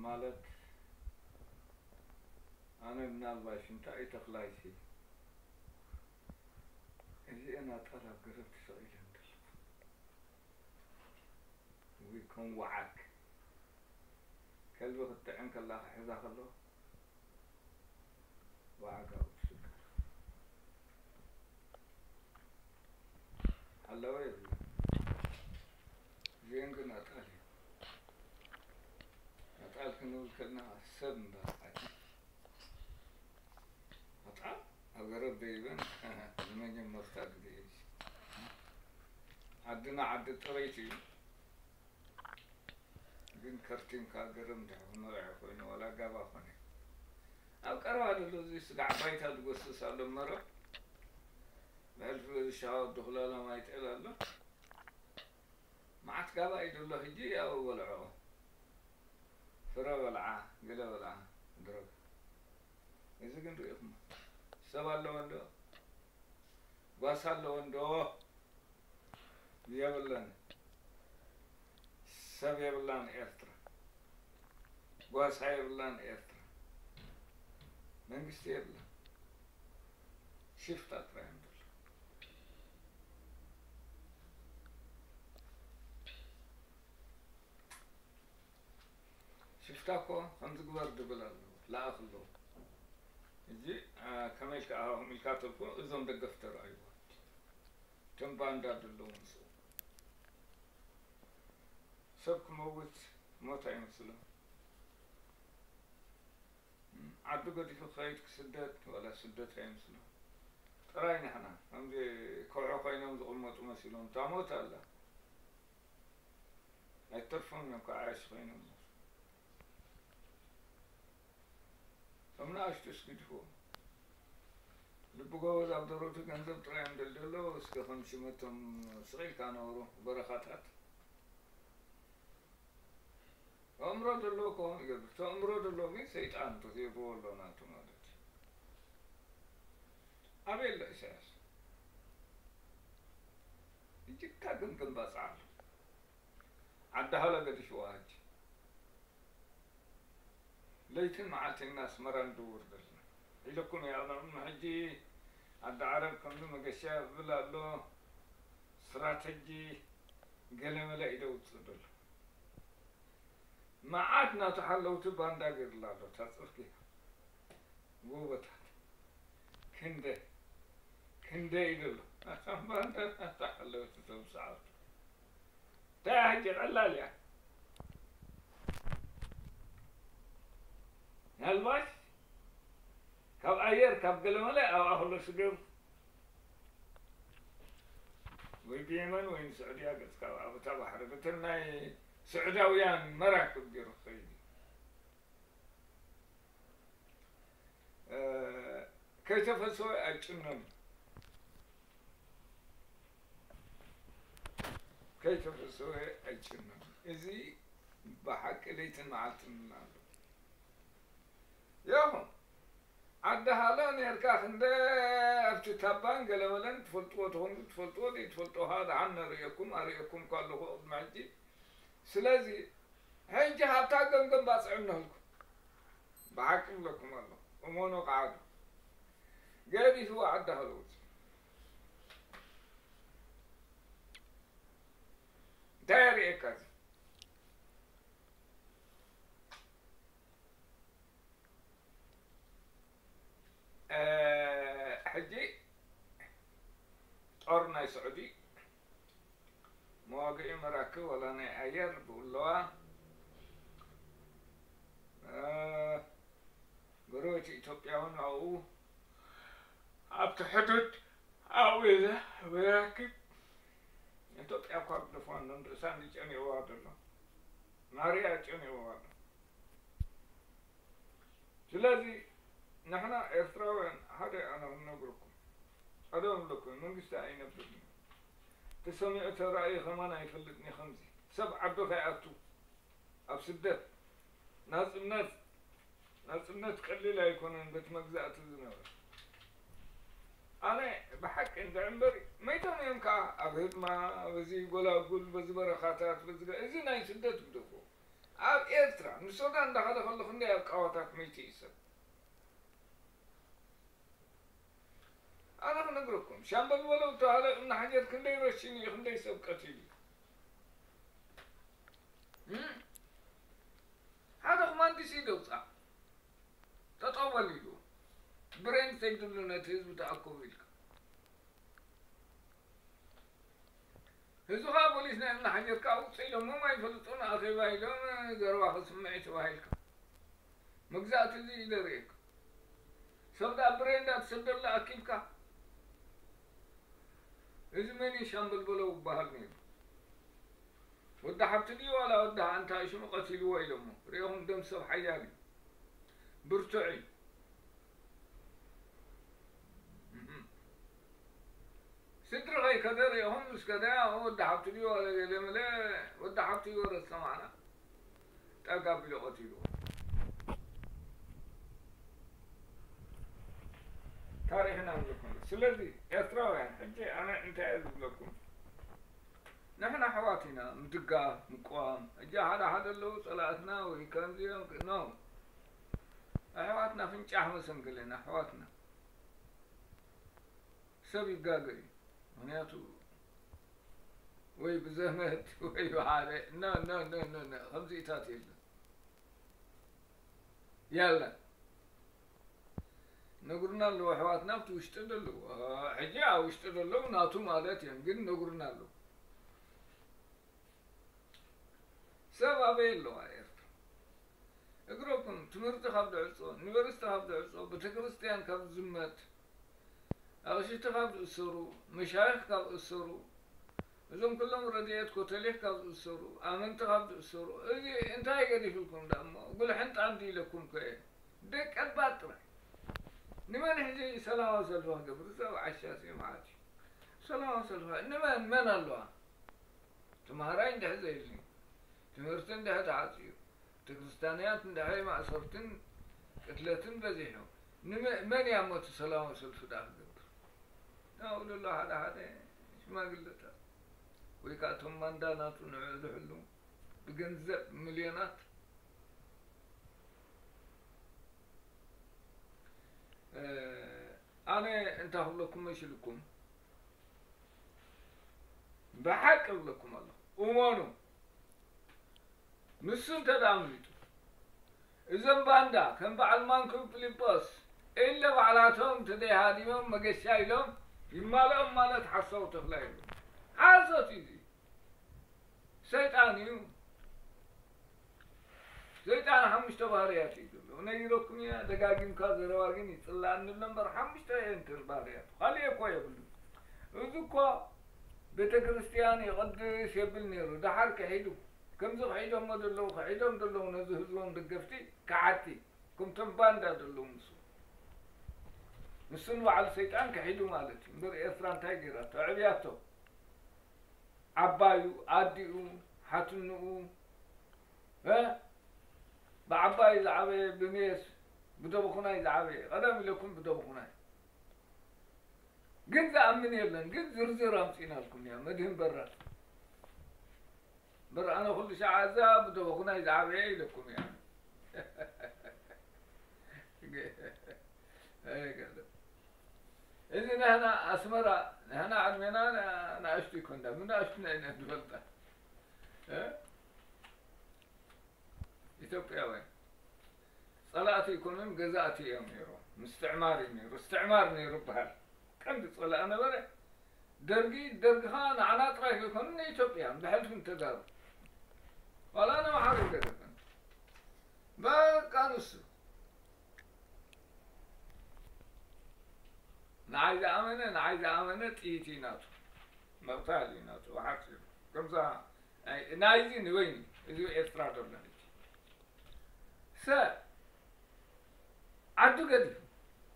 ማለት ኣነ ምናልባሽ እንታይ እዩ ተኽላይሲ እዚኤን ኣጣል ኣብ ገረብ ተሰቒለን ዘለኹ ወይ ከም ወዓግ ከልቢ ክትጥዕም ከላ ክሕዛ ከሎ ወዓግ ኣብኡ ትስቀል። ኣለወ የብሉ። እዚኤን ግን ኣጣል እዩ። ኣጣል ክንብል ከለና ሰብ እምበር ዓዲ ኣጣል ኣብ ገረብ ደይበን ንመጀመርታ ግዜ እዩ። ዓድና ዓዲ ጥሪት እዩ። ግን ከርቲምካ ገረብ እንድሕር ክመርዐ ኮይኑ ዋላ ጋባ ኮነ ኣብ ቀረባ ዘሎ እዚ ስጋዕ ባይታ ዝጎስስ ኣሎ መረብ ብሕልፊ ዝሻወር ድኹላላ ማይ ጤል ኣሎ። መዓት ጋባ እዩ ዘሎ ሕጂ ያው በልዖ ፍረ በልዓ ገለ በልዓ ድረግ እዚ ግን ርኢኹሞ ሰብ ኣለዎ እንዶ ጓሳ ኣለዎ እንዶ የብለን ሰብ የብላን ኤርትራ ጓሳ የብላን ኤርትራ መንግስቲ የብላን ሽፍታ ጥራይ እዮም ዘለዉ። ሽፍታ እኮ ከምዚ ግበር ድብል ኣሎ ለኣኽ ኣለዉ። እዚ ከመይ ኢልካ ኣኹም ኢልካ ተልኩ እዞም ደገፍ ተረኣይዎ እቶም ባንዳ ዘለዉ ምስኡ ሰብ ክመውት ሞት ኣይመስሎ። ዓዲ ገዲፉ ክኸይድ ክስደድ ዋላ ስደት ኣይመስሎ። ጥራይ ንሕና ከምዚ ከውሒ ኮይኖም ዝቕመጡ መሲሎም እታ ሞት ኣላ ኣይተርፎም እዮም ከዓያሽ ኮይኖም እቶም ንኣሽቱ እስግድፎ ልቢ ጎበዝ ኣብ ደረቱ ገንዘብ ጥራይ እዮም ደልደሎ እስከ ከም ሽመቶም ስቕ ኢልካ ነብሩ በረኻታት ኣእምሮ ዘለዎ ክኸውን ይገብር። እቲ ኣእምሮ ዘለዎ ግን ሰይጣን ተትህብዎ ኣሎ ናቱ ማለት እዩ። ኣበይ ኣሎ ኢሳያስ? እጅግካ ግን ግንባጽ ኣሎ። ዓዲ ሃሎ ገዲፍዋ ሕጂ ለይትን መዓልትን ኣስመራ ንድውር ዘለና ኢለኩም እየ። ኣነ ሕጂ ዓዲ ዓረብ ከምዚ መገሻ ይብል ኣሎ። ስትራተጂ ገለመለ እዩ ደውፅእ ዘሎ። መዓት ናቱ ሓለውቲ ባንዳ ገይሩላ ኣሎ። እታ ፅርግያ ጎቦታት ክንደ ክንደ ኢሉ ኣሎ። ናቶም ባንዳ ናቱ ሓለውቲ እቶም ሰዓብቱ። እንታይ እያ ሕጂ ቀላል እያ። ምናልባሽ ካብ ኣየር ካብ ገለመለ ኣብኣ ከሎ ስገብ ወይ ብየመን ወይ ንስዑድያ ገጽካ ኣብታ ባሕሪ በተን ናይ ስዑዳውያን መራክብ ገይሩ ክኸይድ እዩ። ከይተፈሰወ ኣይጭነን። ከይተፈሰወ ኣይጭነን። እዚ ብሓቂ ለይትን መዓልትን ኣሎ። ያኹም ዓዲ ሃሎ ኔርካ ክንደ ኣብቲ ታባን ገለመለን ትፈልጥዎ ተኾንኩ ትፈልጥዎ ዘይትፈልጦ ኸዓ ደሓን ነርእየኩም ኣርእየኩም እኳ ኣለኹ ቅድሚ ሕጂ። ስለዚ ሕጂ ሃብታ ገምገም ባፅዕ እነህልኩ ብሓቂ ብለኩም ኣለኹ እመኑ ኸዓ ገዲፍዎ ዓዲ ሃሎ ውፅእ እንታይ የርእየካ እዚ ሕጂ ጦር ናይ ስዑዲ መዋግኢ መራክብ ዋላ ናይ ኣየር ብኡ ኣለዋ። ጎረቤት ኢትዮጵያ እውን ኣብኡ ኣብቲ ሕዱድ ኣብኡ መራክብ ኢትዮጵያ እኳ ግደፎ ንርእሳ እንዲጨንዋ ዘሎ ናርያ ጨንዋ ኣሎ። ስለዚ ንሕና ኤርትራውያን ሓደ ኣነ ክነግረኩም ቀደም ኣለኩም መንግስቲ ኣይነብርን እዩ። ተሰሚዑ ተራእዩ ከማን ኣይፈልጥን እዩ ከምዚ ሰብ ዓዱ ከይኣቱ ኣብ ስደት ናጽነት ናጽነት ቀሊል ኣይኮነን በቲ መግዛእቲ ዝነበረ ኣነ ብሓቂ እንድዒ እምበር መይቶም እዮም ከዓ ኣብ ህድማ በዚ ጎላጉል በዚ በረኻታት በዚ እዚ ናይ ስደት ግደፎ ኣብ ኤርትራ ንሱዳን እንዳኸደ ከሎ ክንደይ ኣብ ቃዋታት መይቱ እዩ ሰብ። ኣነ ክነግረኩም፣ ሻምበል በለው እተባህለ እምኒ ሓጀር ክንደይ ረሽን እዩ፣ ክንደይ ሰብ ቀቲሉ እዩ። እም? ሓደ ኮማንዲስ እዩ ደውፃ። ጠጠው በል ኢሉ። ብሬን ሰይድሉ ነቲ ህዝቢ ተኣከቡ ኢልካ። ህዝቢ ከዓ ፖሊስ ናይ እምኒ ሓጀር ከዓ ውፅእ ኢሎሞም ኣይፈልጡን፣ ኣኼባ ኢሎም ዘረባ ክስምዕ እዩ ተባሂልካ። መግዛእቲ እዚ እዩ ዘርእየካ። ሰብ ደኣ ብሬን እንዳተሰደሉ ኣኪብካ። እዚ መን እዩ? ሻምበል በለው ይበሃል ነይሩ። ወዲ ሓብቲ ድዩ ዋላ ወዲ ኣንታይ ሽሙ ቀቲልዎ ኢሎሞ። ሪኢኹም ደም ሰብ ሓያል እዩ። ብርቱዕ እዩ። እህም። ስድሪ ከይከደ ሪኢኹም ምስ ከደ፣ ኣሁ ወዲ ሓብቲ ድዩ ዋላ ገለ መለ ወዲ ሓብቲ ይወረስ ሰማዕና። ጠጋ ኣቢሉ ቀቲልዎ። ታሪኽና ንዝኾነ። ስለዚ ኤርትራውያን፣ ሕጂ ኣነ እንታይ እየ ዝብለኩም? ንሕና ኣሕዋት ኢና፣ ምድጋፍ፣ ምቅዋም። ሕጂ ሓደ ሓደ ኣለዉ ጸላእትና ወይ ከምዚኦም ክ-፣ no። ኣሕዋትና ፍንጫሕ መሰንክለን፣ ኣሕዋትና። ሰብ ይጋገ እዩ። ምኽንያቱ ወይ ብዘመድ ወይ ብሓደ፣ no፣ no፣ no፣ no፣ no፣ ከምዚኢታት የለን። የለን። ነግሩና ኣለዉ ኣሕዋትና ኣብቲ ውሽጢ ዘለዉ። አ፣ ሕጂ ኣብ ውሽጢ ዘለዉ ናቱ ማለት እዮም፣ ግን ነግሩና ኣለዉ። ሰብ ኣበይ ኣለዋ ኤርትራ? እግረኩም ትምህርቲ ካብ ድዕጾ፣ ዩኒቨርሲቲ ካብ ድዕጾ፣ ቤተክርስትያን ካብ ዝመት፣ ኣቕሽቲ ካብ ዝእሰሩ፣ መሻይኽ ካብ ዝእሰሩ፣ እዞም ኩሎም ረድኤት ኮተሊኽ ካብ ዝእሰሩ፣ ኣመንቲ ካብ ዝእሰሩ፣ እዚ እንታይ ገዲፍልኩም ደኣ እሞ? ጉልሕንጣ እንዲ ኢለኩም ከ እየ። ደቀባት ጥራይ። ንመን ሕጂ ሰላማዊ ሰልፊ ክገብር? ሰብ ዓሻ ሲ መዓት እዩ። ሰላማዊ ሰልፊ ንመን? መን ኣለዋ? ተምሃራይ እንድሕር ዘይብሉ፣ ትምህርቲ እንድሕር ተዓጽዩ፣ ቤተክርስትያናት እንድሕር ማእሰርትን ቅትለትን በዚሑ፣ ንመ-፣ መን እያ እሞ እቲ ሰላማዊ ሰልፊ ደኣ ክገብር? ኣብኡ ዘሎ ሓደ ሓደ ሽማግለታት ወይ ከዓ እቶም ማንዳ ናቱ ንዕኡ ዝሕሉ ብገንዘብ ሚልዮናት፣ እ፣ ኣነ እንታይ ክብለኩም መሲልኩም? ብሓቂ እብለኩም ኣለኹ፣ እመኑ። ንሱ እንተ ደኣ ኣምሊጡ፣ እዞም ባንዳ ከም በዓል ማንኩ ፊሊጶስ ኢለ ባዕላቶም እንተ ዘይሃዲሞም መገሻ ኢሎም ይማልኦም ማለት ሓሳዊ ተኽላ የብሉን። ሓሶት እዩ እዚ። ሰይጣን እዩ። ሰይጣን ሓሙሽተ ባህርያት እዩ ዘለዎ። ነጊረኩም እየ፣ ደጋጊምካ ዘረባ ግን ይጽላኣኒ ኣሎ እምበር ሓሙሽተ እየን እተን ባህርያቱ። ካልእ እኮ የብሉን። እዚ እኮ ቤተ ክርስቲያን ይቕድስ የብል ነይሩ። ደሓር ክሒዱ። ከምዚ ክሒዶሞ ዘለዉ፣ ክሒዶም ዘለዉ ነዚ ህዝቦም ደገፍቲ ከሓድቲ። ከምቶም ባንዳ ዘለዉ ንሱ። ንሱ ንባዕሉ ሰይጣን ክሒዱ ማለት እዩ። እምበር ኤርትራ እንታይ ገይራቶ? ኣዕብያቶ። ዓባዩ፣ ኣዲኡ፣ ሓትንኡ፣ እ? ብዓባዩ ዝዓበየ፣ ብሜስ፣ ብደብኹናይ ዝዓበየ። ቀደም ኢለኩም ብደብኹናይ። ግን ዝኣምን የለን። ግን ዝርዝር ኣምጺእናልኩም እያ። መድህን በራድ። እምበር ኣነ ኩሉ ሻዕ እዛ ብደበኹናይ ዝዓበየ ኢለኩም እያ። ኣይገርም። እዚ ንሕና ኣስመራ፣ ንሕና ዕድሜና ንኣሽቱ ይኮንና፣ ብንኣሽቱና ኢና ንፈልጣ። እ? ኢትዮጵያውያን ጸላእቲ ኣይኮኑን፣ ገዛእቲ እዮም ነይሮም። ምስትዕማር እዩ ነይሩ፣ እስትዕማር ነይሩ ይበሃል። ቀንዲ ጸላኢ ነበረ። ደርጊ፣ ደርጊ ኸኣ ንዓና ጥራይ ከይኮነ ንኢትዮጵያ ብሕልፊ ንተጋሩ። ዋላ ንኣምሓሩ ይገደፈን። በቃ ንሱ። ንዓይ ዝኣመነ፣ ንዓይ ዝኣመነ ጥይት እዩ ናቱ። ምቕታል እዩ ናቱ። ብሓጺሩ። ከምዛ ናይ፣ ናይዚ ንበይኑ፣ እዚ ኤርትራ ደሎ ሕጂ። ሰብ ዓዱ ገዲፉ።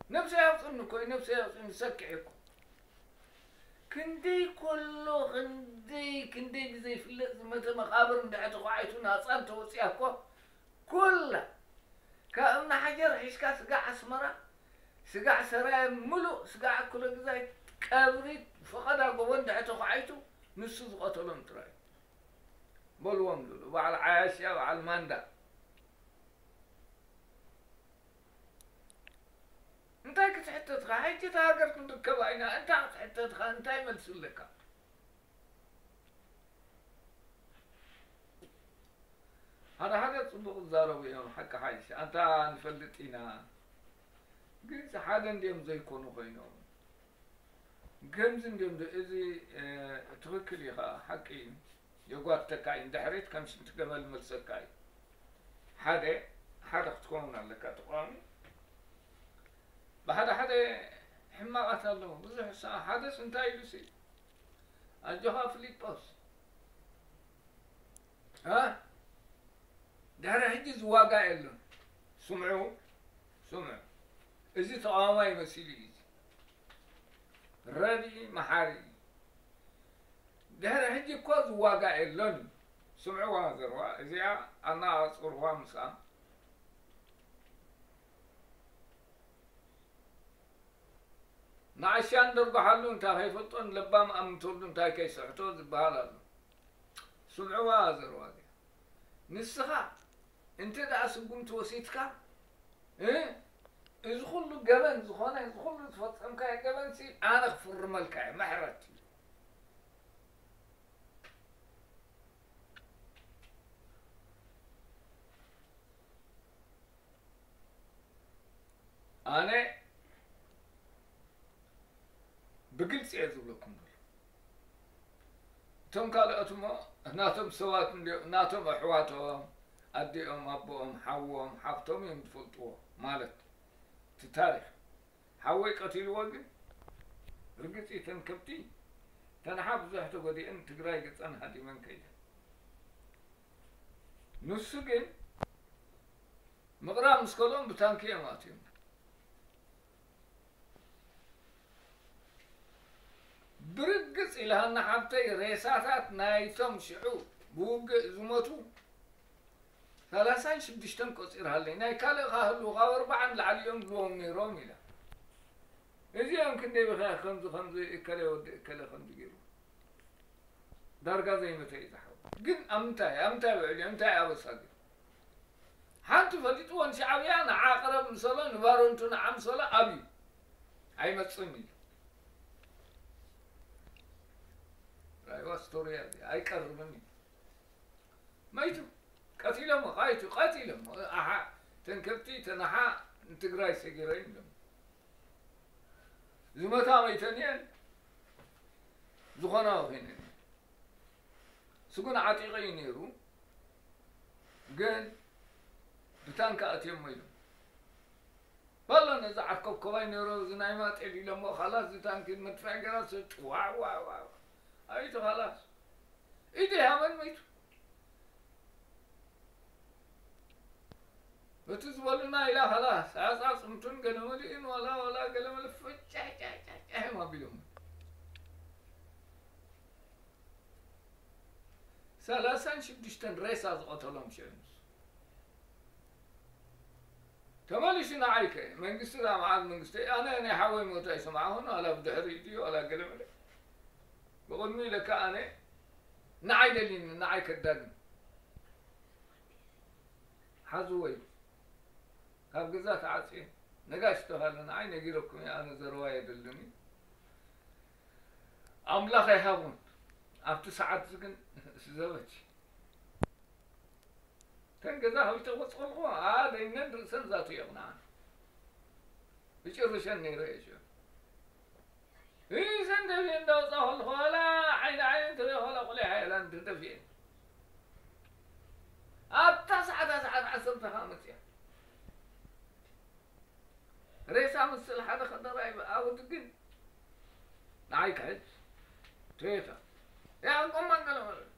ነብሰይ ኣውጽእኒ እኮ እዩ፣ ነብሰይ ኣውጽእኒ፣ ሰኪዐ እኮ። ክንደይ ኮሎ፣ ክንደይ፣ ክንደይ ብዘይፍለጥ ዝመተ መቓብር እንድሕር ተዃዒቱ ናጻ እንተወጺኣ እኮ፣ ኩላ ካብ እምኒ ሓጀር ሒዝካ ስጋዕ ኣስመራ፣ ስጋዕ ሰራየ፣ ምሉእ ስጋዕ ኣኩለ ግዛይ ቀብሪ ፈቐዳ ጎቦ እንድሕር ተዃዒቱ፣ ንሱ ዝቐተሎም ጥራይ እዩ። በልዎም ዝብሉ፣ በዓል ዓያሽያ፣ በዓል ማንዳ። እንታይ ክትሕተትካ? ሕጂ እታ ሃገር ክንርከባ ኢና። እንታይ ክትሕተትካ? እንታይ መልሲ ኣለካ? ሓደ ሓደ ጽቡቕ ዝዛረቡ እዮም፣ ሓቂ ሓይሽ። ኣንታ ንፈልጥ ኢና። ግንስ ሓደ እንድዮም ዘይኮኑ ኮይኖም። ከምዚ እንድዮም ዶ-፣ እዚ፣ እ፣ ትኽክል እዩ ኸዓ፣ ሓቂ እዩ። የጓትተካ እዩ፣ ንድሕሪት ከም ሽንቲ ገመል መልሰካ እዩ። ሓደ፣ ሓደ ክትከውን ኣለካ ተቃዋሚ። ብሓደ ሓደ ሕማቓት ኣለዉ። ብዙሕ ሰ-፣ ሓደስ እንታይ ኢሉ ሲ? ኣጆኻ ፊሊጶስ። እ? ድሕሪ ሕጂ ዝዋጋእ የለን። ስምዑ፣ ስምዑ። እዚ ተቃዋማይ መሲሉ እዩ እዚ። ረድኢ መሓሪ እዩ። ድሕሪ ሕጂ እኮ ዝዋጋእ የለን እዩ። ስምዕዋ ዘረባ እዚኣ፣ ኣነጻጽርዋ ምስኣ። ንዓሻ እንደርጓሓሉ እንታይ ከይፈልጦ፣ ንለባም ኣምንተሉ እንታይ ከይስሕቶ ዝበሃል ኣሎ። ስምዕዋ ዘረባ እዚኣ። ንስኻ እንተ ደኣ ስጉምቲ ወሲድካ፣ እ፣ እዚ ኩሉ ገበን ዝኾነ፣ እዚ ኩሉ ዝፈጸምካዮ ገበንሲ ኣነ ክፍርመልካ እየ፣ ምሕረት እዩ። ኣነ ብግልጺ እየ ዝብለኩም ዘሎ። እቶም ካልኦት እሞ ናቶም ሰባት እንድዮ-፣ ናቶም ኣሕዋቶም፣ ኣዲኦም፣ ኣቦኦም፣ ሓዎም፣ ሓፍቶም እዮም ዝፈልጥዎ ማለት እቲ ታሪኽ። ሓወይ ቀቲልዎ ግን ርግጽ እዩ፣ እተን ከብቲ ተንሓ ብዙሕ ተጎዲአን ትግራይ ገጸን ሃዲመን ከይደን። ንሱ ግን ምቕራብ ምስ ከልኦም ብታንኪ እዮም ኣትዮም። ብርግጽ ኢልሃና ሓብተይ፣ ሬሳታት ናይቶም ሽዑ ብውግእ ዝሞቱ ሰላሳን ሽዱሽተን ቆጺርሃለይ። ናይ ካልእ ካህሉ ካብ ኣርባዓን ላዕሊ እዮም ዝብልዎም ነይሮም ኢላ። እዚኦም ክንደይ ብኸ-፣ ከምዚ፣ ከምዚ እከለ ወዲ እከለ ከምዚ ገይሩ። ዳርጋ ዘይመተ እዩ ዝሓው። ግን ኣብ ምንታይ፣ ኣብ ምንታይ ውዕል እዩ? እንታይ ኣበሳ ግን? ሓንቲ ፈሊጥዎ ንሻዕብያ ንዓ ቅረብ ምሰሎ፣ ንባረንቱ ንዓ ምሰሎ ኣብዩ። ኣይመጽእን እዩ። ራይዋ ስቶርያ እዚ ኣይቀርብን እዩ። መይቱ። ቀቲሎሞ፣ ቃይቱ፣ ቀቲሎሞ። ኣሓ፣ ተን ከብቲ፣ ተን ኣሓ ንትግራይ ሰጊረ እዩ ኢሎም። ዝመታ መይተን እየን፣ ዝኾና ወኺነን እየን። ስጉን ዓጢቐ እዩ ነይሩ፣ ግን ብታንካ ኣትዮሞ ኢሎም። በሎ ነዚ ዓርከብከባይ ነይሮ፣ እዚ ናይ ማጤል ኢሎሞ፣ ኻላስ እዚ ታንኪ መድፍዕ ገይራ፣ ጭዋ፣ ዋ፣ ዋ፣ ዋ። ኣይቱ ኻላስ። ኢዱ ሃበን መይቱ። እቲ ዝበሉና ኢላ ኻላስ፣ ኣጻጽምቱን ገለመሊኡን ዋላ፣ ዋላ ገለመለ ፍጫሕ፣ ጫሕ፣ ጫሕ፣ ጫሕ እዮም ኣቢሎም። ሰላሳን ሽዱሽተን ሬሳ ዝቐተሎም ሽዑ ንሱ። ተመሊሱ ንዓይ ከ፣ መንግስቲ ደኣ መዓዝ መንግስቲ? ኣነ ናይ ሓወይ ሞት ኣይሰማዕኹን፣ ዋላ ብድሕሪኡ ድዩ፣ ዋላ ገለመለ። ብቕድሚኡ ኢለካ ኣነ፣ ንዓይ ደልዩኒ፣ ንዓይ ከዳግም። ሓዝወይ፣ ካብ ገዛ ተዓጽየ፣ ነጋሽ ተባሃለ፣ ንዓይ ነጊረኩም እየ፣ ኣነ ዘረባ የደልን እዩ። ኣምላኽ ኣይሃቡን። ኣብቲ ሰዓት እዚ ግን ስዘበች። ተን ገዛ ከቢተ ክወጽእ ከለኹ፣ ኣደይነን ርእሰን ዛቱ የቕንዓን። ብጭርሸን ነይረ እየ ሽዑ። ርእሰን ደፊኤ እንዳወጻ ከለኹ፣ ዋላ ዓይኒ ዓይነን ተሪኦ፣ ዋላ ቁሊሕ ሓየላን ተደፊኤ። ኣብታ ሰዓት፣ ሰዓት ዓሰርተ ከኣ መጽያ። ሬሳ ምስል ሓደ ከደራይ ኣብኡ ግን ንዓይ ክሕዝ። ቶዮታ። ያ፣ ጎማ ገለ ማለት።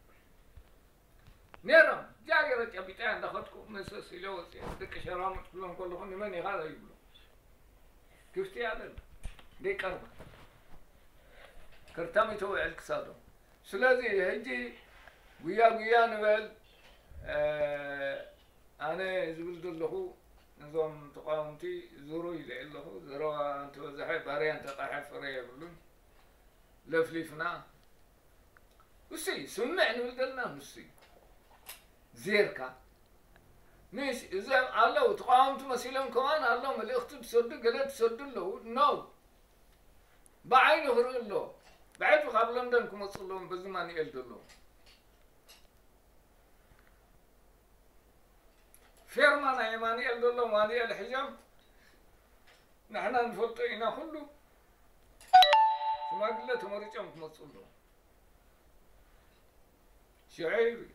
ነይሮም፣ ጃ ገይረ ጨቢጠያ እንዳኸድኩ መሰስ ኢለ ወፅየ። ደቂ ሸራሙጥ ክብሎም ከለኹ፣ "ንመን ኢኻ?" ይብሉ። ክፍቲ እያ ደላ። ደይቀርባ። ከርታሚቶ ውዕል ክሳዶም። ስለዚ፣ ሕጂ ጉያ ጉያ ንበል። እ፣ ኣነ ዝብል ዘለኹ፣ እዞም ተቃወምቲ ዙሩ ኢለ ኣለኹ። ዘረባ እንተበዝሐ፣ ባርያ እንተቃሐ ፍረ የብሉን። ለፍሊፍና። እሱይ፣ ስምዕ ንብል ዘለና ንሱይ። ዜርካ ምሽ እዞም ኣለዉ ተቃወምቲ መሲሎም ከማን ኣሎ መልእኽቲ ትሰዱ ገለ ትሰዱ ኣለዉ። ኖ፣ ብዓይኑ ክርኢ ኣሎ። ብዕቱ ካብ ለንደን ክመፁ ኣለዎም በዚ ማንኤል ዘሎ ፌርማ ናይ ማንኤል ዘሎ ማንኤል ሕዞም ንሕና ንፈልጦ ኢና። ኩሉ ሽማግለ ተመሪጾም ክመፁ ኣለዉ። ሽዑ ይብል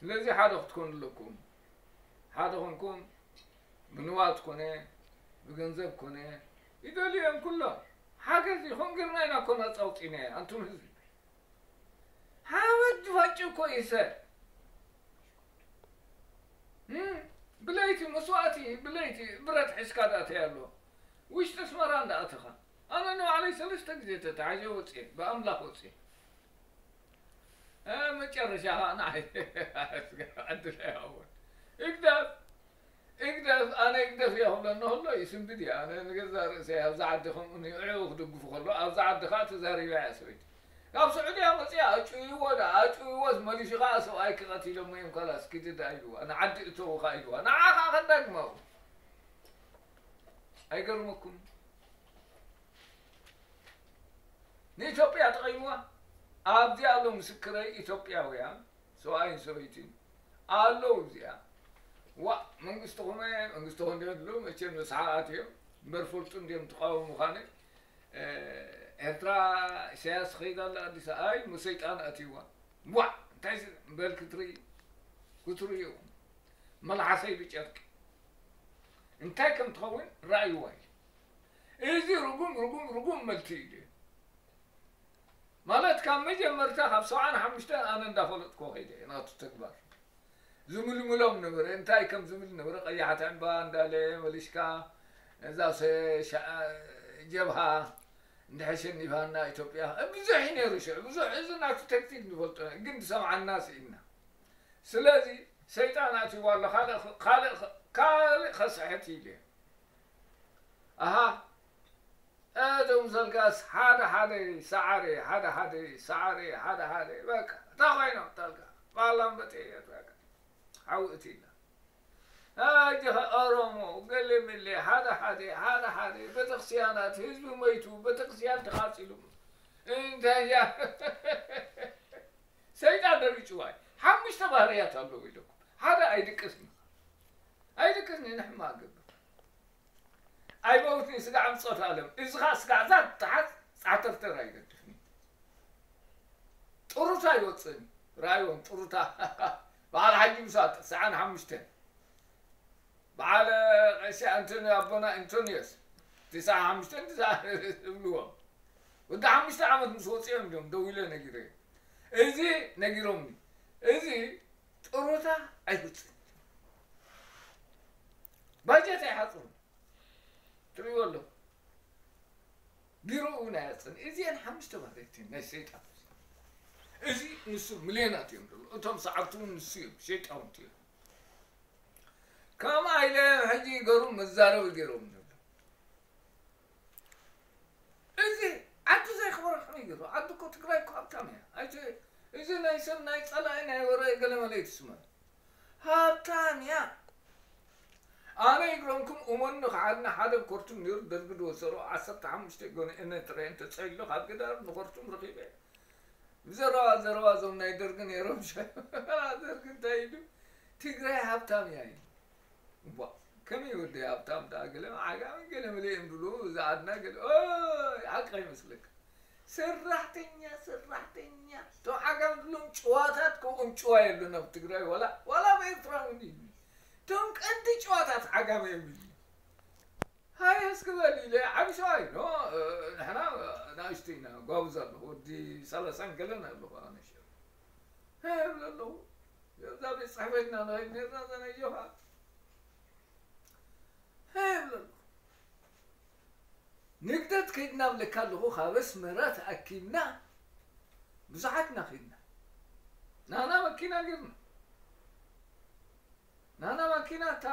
ስለዚ ሓደ ክትኮኑ ኣለኩም። ሓደ ኮንኩም ብንዋት ኮነ ብገንዘብ ኮነ ይደልዮም ኩሎ ሓገዝ ይኹን ግርና ኢና ኮና ፃውፂነ። ኣንቱም ህዝቢ ሓመድ ዝፋጭ እኮ ይሰ ብለይቲ መስዋእቲ ብለይቲ ብረት ሒዝካ ዳእተይ ኣሎ ውሽጢ ኣስመራ እንዳኣተኻ ኣነ ንባዕለይ ሰለስተ ግዜ ተታሒዘ ወፅየ ብኣምላኽ ወፅየ። መጨረሻ ከዓ ንዓይ ዕድል ኣይሃቦን። እግዳፍ እግደፍ ኣነ እግደፍ እየ ክብለኒ ከሎ ይስንብድ እየ። ኣነ ንገዛእ ርእሰይ ኣብዛ ዓዲ ከምኡ ንዕኡ ክድግፉ ከሎ ኣብዛ ዓዲ ከዓ ተዛሪባ እያ ሰበይቲ። ካብ ስዑድያ መፅያ ኣጭውይዎ ዳ ኣጭውይዎስ መሊሱ ከዓ ሰብኣይኪ ቀቲሎሞ እዮም ካላስ ኪዲ ዳ ኢልዋ ንዓዲ እተዉ ከዓ ኢልዋ ንዓ ከዓ ከዳግማው ኣይገርመኩም። ንኢትዮጵያ ጠቒምዋ ኣብዚኣ ኣሎ ምስክረይ ኢትዮጵያውያን ሰብኣይን ሰበይትን ኣለዉ እዚኣ ዋ መንግስትኹም መንግስትኹም እንዲዮም ዝብሉ መቸም ንስሓ ኣትዮም እምበር ፈልጡ እንዲዮም ትቃወሙ ምዃነ ኤርትራ ኢሳያስ ኸይዳ ኣላ ኣዲስ ኣይ ሙሰይጣን ኣትይዋ ዋ እንታይ በል ክትርኢ ክትርእዩ መልሓሰይ ብጨርቂ እንታይ ከም ትኸውን ረኣይዋ እዩ እዚ ርጉም ርጉም ርጉም መልቲ እዩ ማለት ካብ መጀመርታ ካብ ሰብዓን ሓሙሽተን ኣነ እንዳፈለጥኩ ከይደ ናቱ ተግባር ዝምልምሎም ነበረ እንታይ ከም ዝብል ነበረ ቀያሕቲ ዕምባ እንዳለ መሊሽካ እዛ ጀብሃ እንድሕር ሸኒፋና ኢትዮጵያ ብዙሕ እዩ ነይሩ ሽዑ ብዙሕ እዚ ናቱ ተክቲክ ንፈልጦ ግን ዝሰምዓና ስኢና ስለዚ ሰይጣን ኣትይዋ ኣሎ ካልእ ካልእ ካልእ ከስሕት ኢሉ ኣሃ እቶም ዘልጋስ ሓደ ሓደ ሰዓረ ሓደ ሓደ ሰዓረ ሓደ ሓደ በቃ እንታይ ኮይኖም ተልጋ ባላም በጤ በቃ ሓዊ እቲና ኣጅኸ ኦሮሞ ገሌ መሌ ሓደ ሓደ ሓደ ሓደ ቤተክርስትያናት ህዝቢ መይቱ ቤተክርስትያን ተቃፂሉ እንታይ እያ ሰይጣን ደሪጭዋ እዩ ሓሙሽተ ባህርያት ኣለዎ ኢለኩም ሓደ ኣይድቅስን ኣይድቅስን ንሕማ ገብር ኣይመውትን ስጋዕ ምጾት ኣለም እዚ ኸዓ ስጋዕ ዛት ተሓዝ ፃተርተር ኣይገድፍኒ ጥሩታ ይወፅእኒ ራእዮም ጥሩታ በዓል ሓጂ ምሳጥ ሰዓን ሓሙሽተን በዓል ቀሺ ኣንቶኒ ኣቦና ኣንቶኒዮስ ትስዓ ሓሙሽተን ትስዓ እብልዎም ወዲ ሓሙሽተ ዓመት ምስ ወፅኦም እዮም ደው ኢለ ነጊረ እዚ ነጊሮምኒ እዚ ጥሩታ ኣይውፅእን ባጀት ኣይሓፅሩ ትርእይዎ ኣለኹ ቢሮኡ ናይ ኣፅን እዚአን ሓሙሽተ ባህርያት ናይ ሰይጣን እዚ ንሱ ሚልዮናት እዮም ደሎ እቶም ሰዓብቱ እውን ንሱ እዮም ሸይጣውንቲ እዮም ከምኣ ኢለ ሕጂ ገሩ መዛረቢ ገይሮም ነብሎ እዚ ዓዲ ዘይክበረ ከመይ ገሩ ዓዲ እኮ ትግራይ እኮ ሃብታም እያ ኣይተ እዚ ናይ ሰብ ናይ ፀላኢ ናይ ወረ ገለመለ ይትስመ ሃብታም እያ ኣነ ይግረምኩም እመኑ ንኽዓድና ሓደ ኮርቱም ነይሩ ደርጊ ዝወሰሮ ዓሰርተ ሓሙሽተ ጎንኤ ነትረ እንተፀይሎ ካብ ግዳር ንኮርቱም ረኺበ ብዘረባ ዘረባ እዞም ናይ ደርጊ ነይሮም ደርጊ እንታይ ኢሉ ትግራይ ሃብታም እያ ኢሉ እባ ከመይ ወዲ ሃብታም ደኣ ገለ ዓጋመ ገለ መለ እዮም ድብሉ ዝኣድና ገለ ሓቂ ኣይመስለካ ሰራሕተኛ ሰራሕተኛ እቶም ዓጋመ ድብሎም ጭዋታት ከምኦም ጭዋ የለን ኣብ ትግራይ ዋላ ዋላ ኣብ ኤርትራ እውን ይብሉ እቶም ቀንዲ ጭዋታት ዓጋመ እዮም ይብሉ ሃየ እስኪ በል ኢለ ዓቢ ሰብኣይ ኖ ንሕና ናእሽቱ ኢና ጓብዝ ኣለኹ ወዲ ሰላሳን ገለን ኣለኹ ኣነ ሽዑ ይብል ኣለኹ እዛ ቤት ፅሕፈትና ንኸይድ ነርና ዘነየኻ ይብል ኣለኹ ንግደት ከይድና ብለካ ኣለኹ ካብ ኣስመራ ተኣኪብና ብዙሓት ኢና ከይድና ናና መኪና ገርና ናና መኪና እታ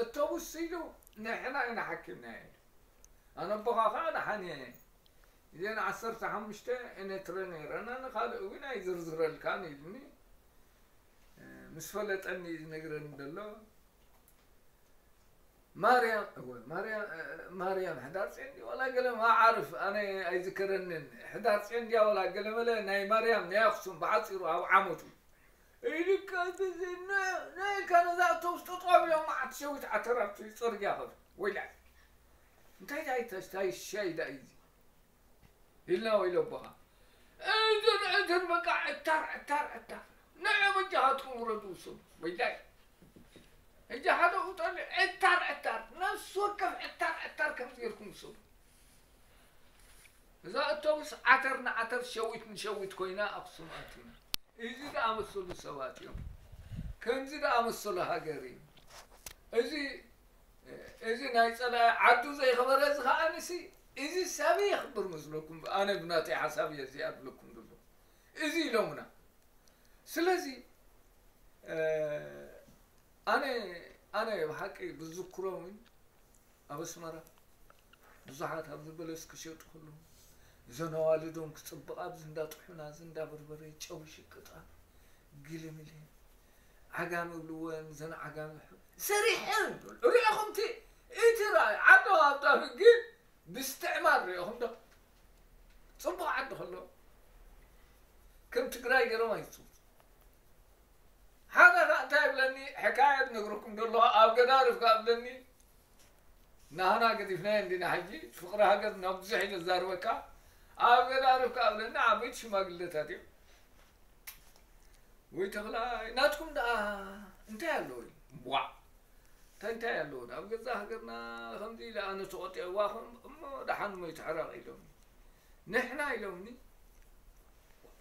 እቶቡስ ኢሉ ንሕና ኢና ሓኪምና ኢሉ ኣነ ኣቦኻ ከዓ ደሓን እየ እዘን ዓሰርተ ሓሙሽተ ኤነትረ ነይረና፣ ንኻልእ እውን ኣይዝርዝረልካን ኢልኒ። እ፣ ምስ ፈለጠኒ እዩ ዝነግረኒ ዘሎ። ማርያም፣ እወ፣ ማርያም፣ እ፣ ማርያም ሕዳር ጽዮን ድያ ዋላ ገለ ማዓርፍ፣ ኣነ ኣይዝከረንን። ሕዳር ጽዮን ድያ ዋላ ገለ መለ ናይ ማርያም ናይ ኣኽሱም ብሓጺሩ ኣብ ዓመቱ። ኢልካ ብዚ ነ-፣ ነይካ ነዛ ኣውቶቡስ ጠጠው ኢሎም መዓት ሸዊት ዓተር ኣብቲ ጽርግያ ከዱ። ወይላይ። እንታይ ታይ ተስታይ ሻይ ዳይ እዚ? ኢልና ወይ ለቦኻ። እዝን እዝን በቃ ዕታር፣ ዕታር፣ ዕታር። ንዑ በጃኻትኩም ውረዱ ውሰዱ። ወይላይ። ሕጂ ሓደ ውጠሉ ዕታር፣ ዕታር። ነፍሲ ወከፍ ዕታር፣ ዕታር ከምዚ ጌርኩም ውሰዱ። እዛ ኣውቶቡስ ዓተር ንዓተር ሸዊት ንሸዊት ኮይና ኣኽሱም ኣቲና። እዚ ዝኣመሰሉ ሰባት እዮም። ከምዚ ዝኣመሰሉ ሃገር እዩ። እዚ፣ እዚ ናይ ጸላኢ ዓዱ ዘይኸበረ እዚ ከኣ ንሲ፣ እዚ ሰብ የኽብር መስለኩም? ኣነ ብናተይ ሓሳብ እየ እዚኣ ዝብለኩም ዘሎ። እዚ ኢሎምና። ስለዚ፣ እ፣ ኣነ፣ ኣነ ብሓቂ ብዝክሮ እውን ኣብ ኣስመራ ብዙሓት ኣብዚ በለስ ክሸጡ ከለዉ፣ እዘን ኣዋልዶም ክጽብቓ ኣብዚ እንዳ ጥሑና፣ እዚ እንዳ በርበረ፣ ጨው ይሽቅጣ፣ ግልምል፣ ዓጋመ ይብልወን፣ እዘን ዓጋመ ሕ-፣ ሰሪሐን፣ ርኢኹም እቲ፣ እቲ ራእይ፣ ዓዶ ሃብታም ግን ብስትዕማር ርኢኹም ዶ? ጽቡቕ ዓዲ ከሎ፣ ከም ትግራይ ገይሮም ኣይጽውቱ። ሓደ ኸኣ እንታይ ይብለኒ፣ ሕካየት ነግረኩም ደለኹ፣ ኣብ ገዳርፍ ከኣ ብለኒ፣ ናህና ገዲፍናዮ እንዲና ሕጂ፣ ፍቕሪ ሃገር ናብ ብዙሕ ኢለ ዝዛርበካ፣ ኣብ ገዳርፍ ከኣ ብለኒ፣ ዓበይቲ ሽማግለታት እዮም። ወይ ተኽላይ፣ ናትኩም ደኣ እንታይ ኣለዎ? ዋዕ! እንታይ እንታይ ኣለዎ? ኣብ ገዛ ሃገርና ከምዚ ኢለ ኣነ ተቖጢዐዋ ኹም፣ እሞ ደሓን እሞ ይትሕረቕ ኢሎምኒ። ንሕና ኢሎምኒ፣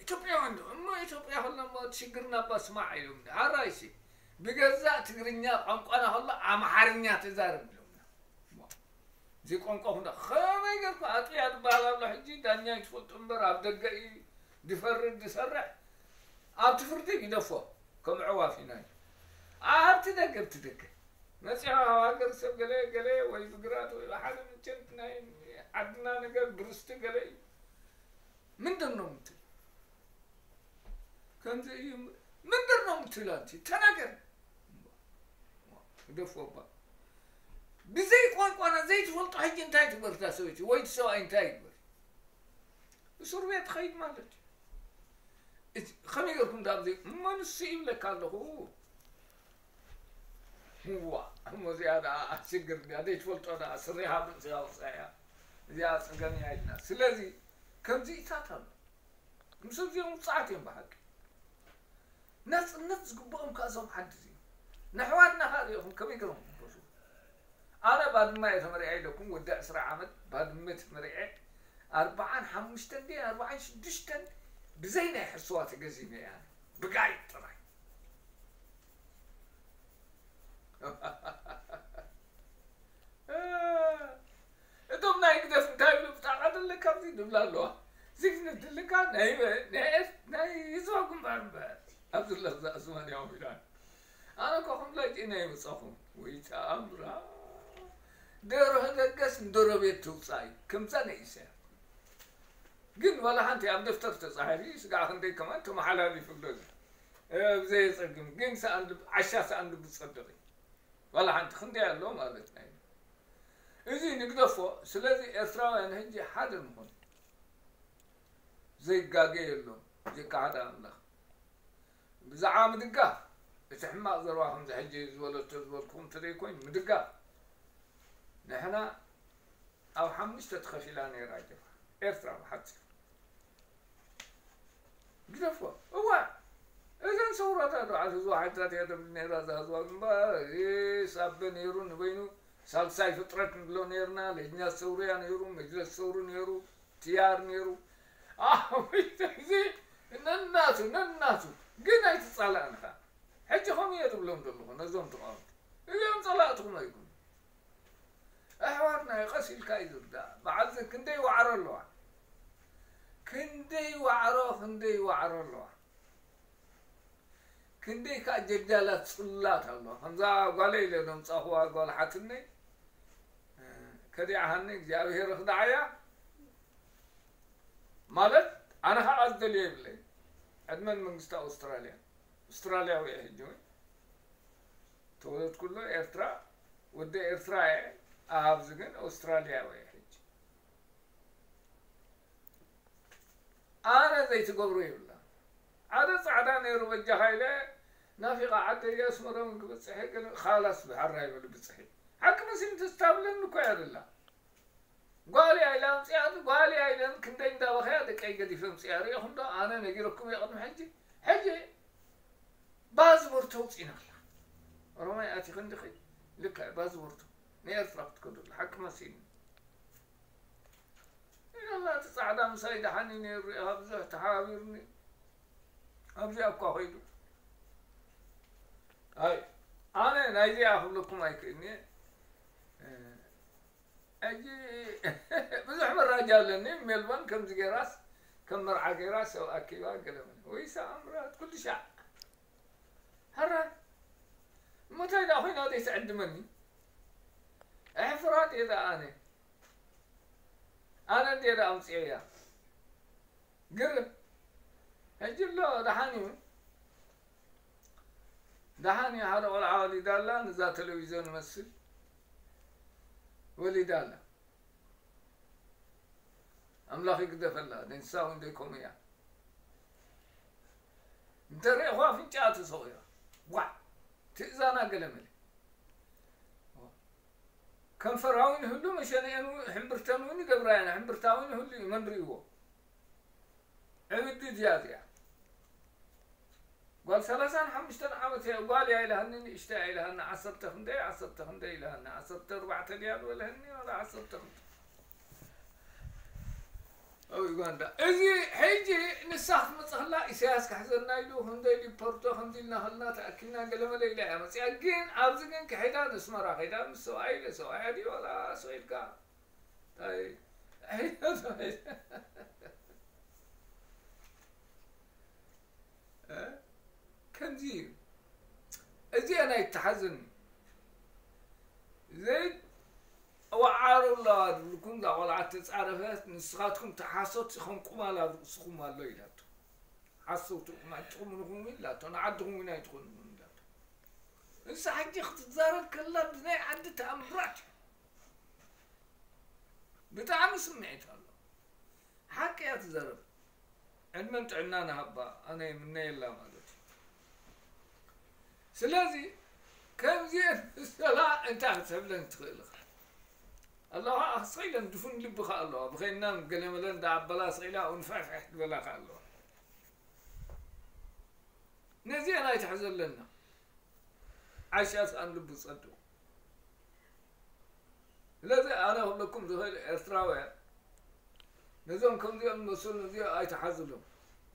ኢትዮጵያውያን ዶ? እሞ ኢትዮጵያ ከለና እሞ እቲ ሽግርና እባ ስማዕ ኢሎምኒ። ኣራይሲ፣ ብገዛእ ትግርኛ ቋንቋና ከሎ ኣምሓርኛ ተዛረብ ኢሎምና። እዚ ቋንቋኹም ዳ-፣ ከመይ ጌርኩም ኣጥብያ ዝበሃል ኣሎ ሕጂ፣ ዳኛ ይትፈልጡ እምበር፣ ኣብ ደገ እዩ ዝፈርድ ዝሰርሕ። ኣብቲ ፍርዲ ግደፎ፣ ከም ኣዕዋፍ ኢና። ኣብቲ ደገ፣ ኣብቲ ደገ መጺኻ ካብ ሃገር ሰብ ገለ፣ ገለ ወይ ብግራት ወይ ብሓደ ምቸት ናይ ዓድና ነገር ብርስቲ ገለ እዩ። ምንድን ነው የምትል? ከምዚ እዩ። ምንድን ነው የምትል ኣንቲ? ተናገር። ግደፎ እባ። ብዘይ ቋንቋና ዘይትፈልጦ ሕጂ እንታይ ትግበር እታ ሰበይቲ ወይ እቲ ሰብኣይ እንታይ ይግበር? እስር ቤት ትኸይድ ማለት እዩ። እቲ ከመይ ጌርኩም ዳኣ ብዘይ እሞ ንሱ ይብለካ ኣለኹ። እዋ፣ እሞ እዚኣ ደኣ ሽግር ድያ? ዘይትፈልጦ ደኣ ስሪኻ ብርእስኻ ውፅኣያ። እዚኣ ፀገም እያ ኢልና። ስለዚ ከምዚታት ኣሎ። ምስ እዚኦም ውፅዓት እዮም ብሓቂ። ናፅነት ዝግብኦም ከኣ እዞም ዓዲ እዚኦም። ንኣሕዋትና ከኣ ሪኢኹም ከመይ ገይሮም ክበዝሑ? ኣነ ባድመ እየ ተመሪዐ ኢለኩም፣ ወዲ ዕስራ ዓመት ባድመ ተመሪዐ፣ ኣርብዓን ሓሙሽተን ድየ ኣርብዓን ሽዱሽተን ብዘይ ናይ ሕስዋ ተገዚመ እየ ኣነ። ብጋይት ጥራይ። እቶም ናይ ህግደፍ እንታይ ይብሉ? ብጣዕሚ ደለካ ኣብዚ ድብላ ኣለዋ። ዚግነት ደለካ ናይ በ-፣ ናይ ኤር-፣ ናይ ህዝባዊ ግንባር እምበር። ኣብዚ ለዛ ዝማን ያው ኢላን። ኣነ እኮ ከም ላይጤ ናይ መጻኹም። ወይ ተኣምራ። ደርሆ ደገስ ንደሮ ቤት ትውጻእ እዩ። ከምዛ ናይ ኢሳያስ። ግን ዋላ ሓንቲ ኣብ ደፍተር ተጻሒፉ ስጋዕ ክንደይ ከማን ተመሓላሊፉ ኣሎ። እ፣ ብዘየጸግም። ግን ሰኣን ልብ-፣ ዓሻ ሰኣን ልቡ ዝጸድቕ እዩ። ዋላ ሓንቲ ክንደይ ኣሎ ማለት ናይ እዚ ንግደፎ። ስለዚ ኤርትራውያን ሕጂ ሓደ ንኹን። ዘይጋገ የሎም፣ ዘይከሓድ ኣምላኽ። ብዛዕባ ምድጋፍ፣ እቲ ሕማቕ ዘረባ ከምዚ ሕጂ ዝበለቶ ዝበልኩኹም እንተዘይኮይኑ፣ ምድጋፍ። ንሕና ኣብ ሓሙሽተ ተኸፊላ ነይራ ጀብሃ ኤርትራ ብሓጺሩ። ግደፎ። እዋ፣ እዘን ሰውራታት በዓል ህዝባዊ ሓይልታት እያ ተብል ነይራ፣ እዛ ህዝባዊ ግንባር፣ ሳበ ነይሩ ንበይኑ፣ ሳልሳይ ፍጥረት ንብሎ ነይርና፣ ለጅነት ሰውርያ ነይሩ፣ መጅለስ ሰውሪ ነይሩ፣ ትያር ነይሩ። ኣቤት፣ እዚ ነናቱ፣ ነናቱ። ግን ኣይትጻላእንኻ። ሕጂ ከምኡ እየ ዝብሎም ዘለኹ፣ ነዞም ተቓወምቲ። እዚኦም ጸላእትኹም ኣይኮኑን። ኣሕዋትና እዩ፣ ቀስ ኢልካ እዩ ዝርዳእ። በዓል ዘ-፣ ክንደይ ዋዕሮ ኣለዋ። ክንደይ ዋዕሮ፣ ክንደይ ዋዕሮ ኣለዋ። ክንደይ ከኣ ጀጃላት ጽላት ኣለዋ። ከምዛ ጓለይ ኢለ ዘምጻኹዋ ጓል ሓትነይ፣ እ፣ ከዲዓሃኒ እግዚኣብሔር ይኽድዓያ። ማለት ኣነ ከዓ ዝደልዮ የብለይ። ዕድመን መንግስቲ ኣውስትራልያ። ኣውስትራልያዊ እየ ሕጂ እውን። ተወለድኩሎ ኤርትራ፣ ወደ ኤርትራ እየ። ኣብዚ ግን ኣውስትራልያዊ እየ ሕጂ። ኣነ ዘይትገብሮ የብላ። ሓደ ጻዕዳ ነይሩ በጃኻ ኢለ ናፊቓ ዓደይ ኣስመራ እውን ክበጽሕ እየ፣ ገለ ካላስ ብሓራ ይበሉ ብጽሒ። ሓቂ መሲሉ ተስታብለኒ እኮ እያ ዘላ። ጓል እያ ኢላ ኣምጽኣት፣ ጓል እያ ኢለን ክንደይ እንዳበኸያ ደቀይ ገዲፈ ኣምጽኣ ርኢኹም ዶ? ኣነ ነጊረኩም እየ ቅድሚ ሕጂ። ሕጂ ባዝቦርቶ ኣውጺእና ኣላ። ኦሮማይ ኣቲኺ እንዲኺ ልክዕ ባዝቦርቶ ንኤርትራ ክትከዱ ኣላ። ሓቂ መሲሉ። ኢለላ እቲ ጻዕዳ ምሳይ ደሓን እዩ ነይሩ፣ ርኢኻ ብዙሕ ተሓባቢሩኒ። ኣብዚኣ እኳ ኸይዱ። ኣይ፣ ኣነ ናይዚኣ ክብለኩም ኣይክእልኒ። እ፣ ሕጂ ብዙሕ መራጃ ኣለኒ። ሜልቦርን ከምዚ ገይራስ፣ ከም መርዓ ገይራ ሰብ ኣኪባ ገለ መለ። ወይ ሰኣምራት ኩሉ ሻዕ። ሕራይ። እሞ እንታይ ደኣ ኮይና ዘይትዕድመኒ? ኣሕፍራ ድየ ደኣ ኣነ? ኣነ እንድየ ደኣ ኣምጽኤያ። ግርም። ሕጂ ኣሎ፣ ደሓን እዩ። ደሓን እዩ፣ ሓደ ቆልዓ ወሊዳ ኣላ፣ ነዛ ቴሌቪዝዮን መስል ወሊዳ ኣላ። ኣምላኽ ይግደፈላ፣ ንሳ እውን ደይ ከምኡ እያ። እንተ ርኤኹ ኣፍንጫኣ ተሰቑራ። ዋዕ! ትእዛና ገለ መለ። ከንፈራ እውን ይህሉ፣ መሸንኤን እውን፣ ሕምብርተን እውን ይገብራ እየን። ሕምብርታ እውን ይህሉ እዩ፣ መን ርእይዎ? ዕብዲ ድያ እዚኣ? ጓል ሰላሳን ሓሙሽተን ዓመት እያ፣ ጓል እያ ኢላሃኒ፣ ንእሽተይ እያ ኢላሃኒ፣ ዓሰርተ ክንደይ፣ ዓሰርተ ክንደይ ኢላሃኒ፣ ዓሰርተ ኣርባዕተ ድያ ዝበለህኒ፣ ዋላ ዓሰርተ ክንደይ? ኣብ ዩጋንዳ። እዚ ሕጂ ንሳ ክትመጽእ ከላ ኢሳያስ ክሕዘና ኢሉ፣ ክንደይ ሊፖርቶ ከምዚ ኢልና ከልና ተኣኪብና ገለመለ ኢላ እያ መጽያ። ግን ኣብዚ ግን ክሒዳ ንስመራ ከይዳ ምስ ሰብኣይ ኢለ፣ ሰብኣያ ድዩ ዋላ ሰው ኢልካ? እንታይ? እ? ከምዚ እዩ። እዚኣ ናይ ተሓዝኒ። ዘይት-፣ ወዓሩ ኣለዋ ዝብልኩም፣ እዛ ቆልዓ ተጻረፈት፣ ንስኻትኩም ተሓሶት ኢኹም፣ ቁማል ኣብ ርእስኹም ኣሎ ኢላቶ። ሓሰውቲ ኢኹም፣ ኣይትኹምን ኢኹም ኢላቶ፣ ንዓድኹም እውን ኣይትኾኑን ኢላቶ። ንሳ ሕጂ ክትዛረብ ከላ ብናይ ዓዲ ተኣምራት እዩ። ብጣዕሚ ስምዒት ኣሎ። ሓቂ እያ ትዛረብ። ዕድመን ጥዕናን ሃባ፣ ኣነ ይምነየላ ማለት እዩ። ስለዚ ከምዚአን ዝመሰላ እንታይ ክትብለን ትኽእል ኢኻ? ኣለዋ፣ ስቕ ኢለን ድፉን ልቢ ከኣ ኣለዋ። ብኸይንና ገለ መለ እንዳ ኣበላ ስቕ ኢላ፣ ኣው ንፍሕፍሕ ዝበላ ከኣ ኣለዋ። ነዚአን ኣይትሕዘለና። ዓሻ ስኣን ልቡ ጸድቑ። ስለዚ ኣነ ክብለኩም ዝኽእል ኤርትራውያን ነዞም ከምዚኦም ዝመስሉ ነዚኦም ኣይትሓዝሎም።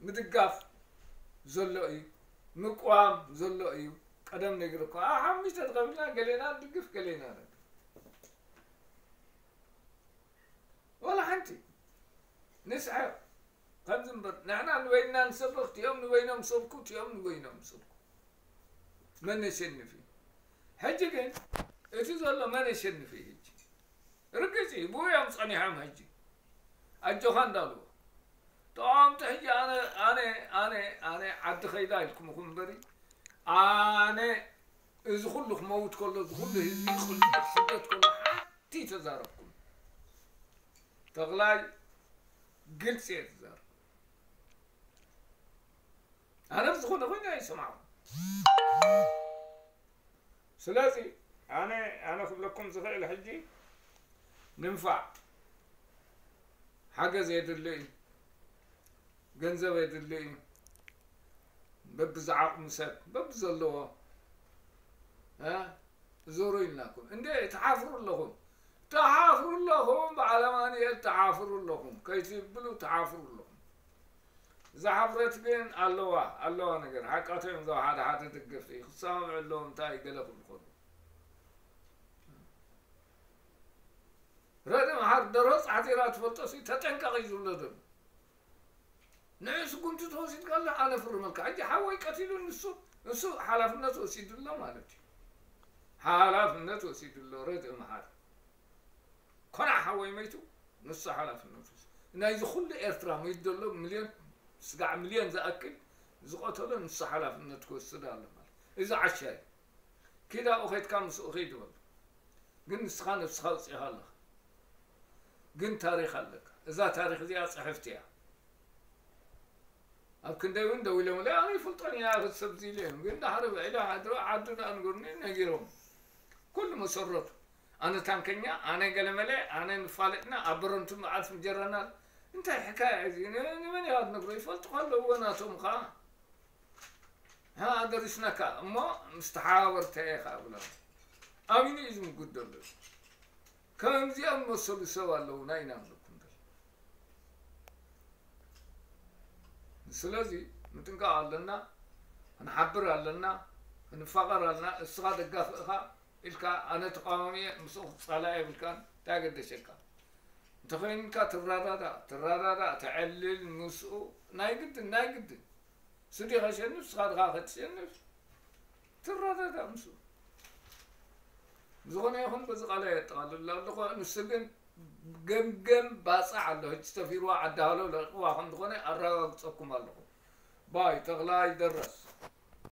ምድጋፍ ዘሎ እዩ፣ ምቅዋም ዘሎ እዩ። ቀደም ነጊረኩም፣ ኣብ ሓሙሽተ ተኸፊልና ገሌና ንድግፍ፣ ገሌና ነድግፍ። ዋላ ሓንቲ ንስሕቕ። ከምዚ እምበር ንሕና ንበይንና ንሰብኽ፣ እቲኦም ንበይኖም ሰብኩ፣ እቲኦም ንበይኖም ሰብኩ። መን የሸንፍ እዩ? ሕጂ ግን እቲ ዘሎ መን የሸንፍ እዩ ሕጂ? ርግጽ እዩ፣ ብኡ እዮም ጸኒሖም ሕጂ። ኣጆኻ እንዳልዎ። ተቃወምቲ ሕጂ ኣነ፣ ኣነ፣ ኣነ፣ ኣነ ዓዲ ከይዳ ኢልኩም ኢኹም እምበሪ፣ ኣነ እዚ ኩሉ ክመውት ከሎ፣ እዚ ኩሉ ህዝቢ ክልእ ክስደት ከሎ ሓንቲ ተዛረብኩም። ተኽላይ ግልጺ እየ ዝዛረብ። ኣነ ብዝኾነ ኮይኑ ኣይሰማዕኹም። ስለዚ ኣነ፣ ኣነ ክብለኩም ዝኽእል ሕጂ፣ ንምፋዕ ሓገዝ የድሊ እዩ፣ ገንዘብ የድሊ እዩ። በብዝዓቕሙ ሰብ፣ በብዘለዎ፣ እ፣ ዙሩ ኢልናኩም። እንዴ፣ ትሓፍሩ ኣለኹም። ትሓፍሩ ኣለኹም፣ በዓል ኣማኑኤል ትሓፍሩ ኣለኹም። ከይትብሉ ትሓፍሩ ኣለኹም። እዛ ሓፍረት ግን ኣለዋ፣ ኣለዋ ነገር። ሓቃቶም እዮም፣ እዞም ሓደ ሓደ ደገፍቲ። ክሰማምዑ ኣለዎም፣ እንታይ ገለ ክብሉ ከለዉ። ረድእ መሓር ደርሆ ጻዕቲራ ትፈልጦ ሲ ተጠንቀቕ እዩ ዝብሎ ዘሎ። ንዑ ስጉምቲ ተወሲድካ ኣሎ፣ ኣነ ፍርመልካ። ሕጂ ሓወይ ቀቲሉ ንሱ፣ ንሱ ሓላፍነት ወሲዱ ኣሎ ማለት እዩ። ሓላፍነት ወሲዱ ኣሎ ረድእ መሓር። ኮና ሓወይ መይቱ፣ ንሱ ሓላፍነት ወሲዱ። ናይዚ ኩሉ ኤርትራ ሚድ ዘሎ ሚልዮን፣ ስጋዕ ሚልዮን ዝኣክል ዝቐተሎ ንሱ ሓላፍነት ክወስድ ኣሎ ማለት። እዚ ዓሻ እዩ። ኪድ ኣብኡ ኸይድካ ምስኡ ኺድ በሎ። ግን ንስኻ ነብስኻ ኣውጺእኻ ኣለኻ። ግን ታሪኽ ኣለካ። እዛ ታሪኽ እዚኣ ጽሕፍቲ እያ። ኣብ ክንደይ እውን ደው ኢሎምለይ፣ ኣነ ይፈልጦን እያ፣ ክሰብ እዚ ኢለ እዮም። ግን ዳሕሪ ውዒለ ሓድሮ ዓዱ ደኣ ንገሩኒ ነጊሮም። ኩሉ መሰረቱ። ኣነ ታንከኛ፣ ኣነ ገለመለ፣ ኣነ ንፋለጥና፣ ኣብ በረንቱ መዓልቲ ምጀረናል። እንታይ ሕካያ እዚ? ን-፣ ንመን ኢኻ ትነግሮ? ይፈልጡ ከለዎ ናቶም ኸኣ። ሃ፣ ኣደሪስናካ እሞ ምስ ተሓባበርተ ኢኻ ብሎም። ኣሚኑ እዩ ዝምጉድ ዘሎ። ከምዚኦም መሰሉ ሰብ ኣለውና ኢና ንብለኩም ዘለና። ስለዚ ምጥንቃቕ ኣለና፣ ክንሓብር ኣለና፣ ክንፋቐር ኣለና። እስኻ ደጋፊ እኻ ኢልካ ኣነ ተቃዋሚ እየ፣ ምስኡ ክጻላእ የብልካን፣ እንታይ ገደሸካ? እንተኾይንካ ትረዳዳእ፣ ትረዳዳእ፣ ተዕልል ምስኡ፣ ናይ ግድን፣ ናይ ግድን። እሱ ድዩ ከሸንፍ፣ ንስኻ ድኻ ከትሸንፍ፣ ትረዳዳእ ምስኡ። ዝኾነ ይኹን በዚ ቃል የጠቓልል ኣለኹ። ንሱ ግን ገምገም ባጽዕ ኣሎ። ሕጂ ተፊርዋ ዓዲ ሃሎ ለቂቕዋ ከም ዝኾነ ኣረጋግጸኩም ኣለኹ። ባይ ተኽላይ ደረስ።